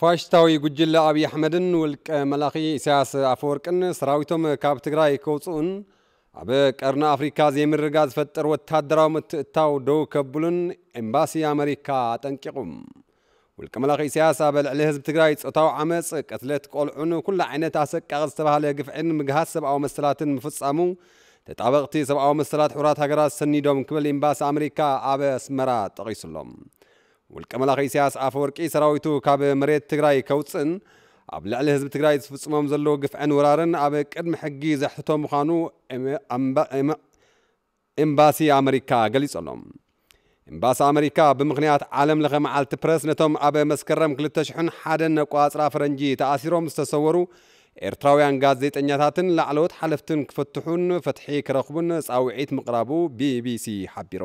ፋሽስታዊ ጉጅለ ኣብይ ኣሕመድን ውልቀ መላኺ ኢሳያስ ኣፈወርቅን ሰራዊቶም ካብ ትግራይ ከውፅኡን ኣብ ቀርኒ ኣፍሪካ ዘይምርጋ ዝፈጥር ወታደራዊ ምትእታው ደው ከብሉን ኤምባሲ ኣመሪካ ኣጠንቂቑ። ውልቀ መላኺ ኢሳያስ ኣብ ልዕሊ ህዝቢ ትግራይ ጾታዊ ዓመፅ፣ ቅትለት ቆልዑን ኩሉ ዓይነት ኣሰቃቒ ዝተባህለ ግፍዕን ምግሃስ ሰብኣዊ መሰላትን ምፍጻሙ ተጣበቕቲ ሰብኣዊ መሰላት ሕቡራት ሃገራት ሰኒዶም ክብል ኤምባሲ ኣመሪካ ኣብ ኣስመራ ጠቒሱሎም። ውልቀ መላኺ ኢሳያስ ኣፈወርቂ ሰራዊቱ ካብ መሬት ትግራይ ከውፅእን ኣብ ልዕሊ ህዝቢ ትግራይ ዝፍጽሞም ዘለዉ ግፍዕን ወራርን ኣብ ቅድሚ ሕጊ ዘሕትቶ ምዃኑ ኤምባሲ ኣመሪካ ገሊጹ ኣሎ። ኤምባሲ ኣመሪካ ብምኽንያት ዓለም ለኸ መዓልቲ ፕረስ ነቶም ኣብ መስከረም ክልተ ሽሕን ሓደን ኣቆጻጽራ ፈረንጂ ተኣሲሮም ዝተሰወሩ ኤርትራውያን ጋዜጠኛታትን ላዕለዎት ሓለፍትን ክፍትሑን ፍትሒ ክረኽቡን ጻውዒት ምቕራቡ ቢቢሲ ሓቢሩ።